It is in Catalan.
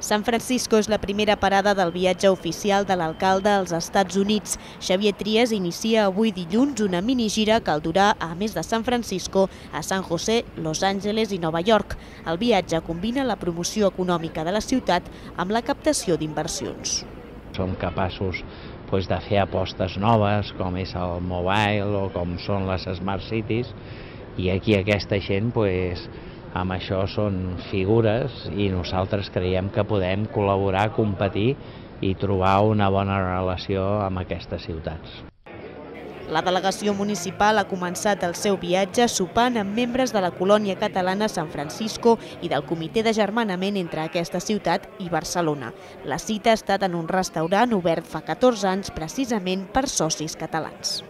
San Francisco és la primera parada del viatge oficial de l'alcalde als Estats Units. Xavier Trias inicia avui dilluns una minigira que el durà, a més de San Francisco, a San José, Los Angeles i Nova York. El viatge combina la promoció econòmica de la ciutat amb la captació d'inversions. Som capaços de fer apostes noves, com és el mobile o com són les Smart Cities, i aquí aquesta gent amb això són figures i nosaltres creiem que podem col·laborar, competir i trobar una bona relació amb aquestes ciutats. La delegació municipal ha començat el seu viatge sopant amb membres de la colònia catalana San Francisco i del comitè d'agermanament entre aquesta ciutat i Barcelona. La cita ha estat en un restaurant obert fa 14 anys precisament per socis catalans.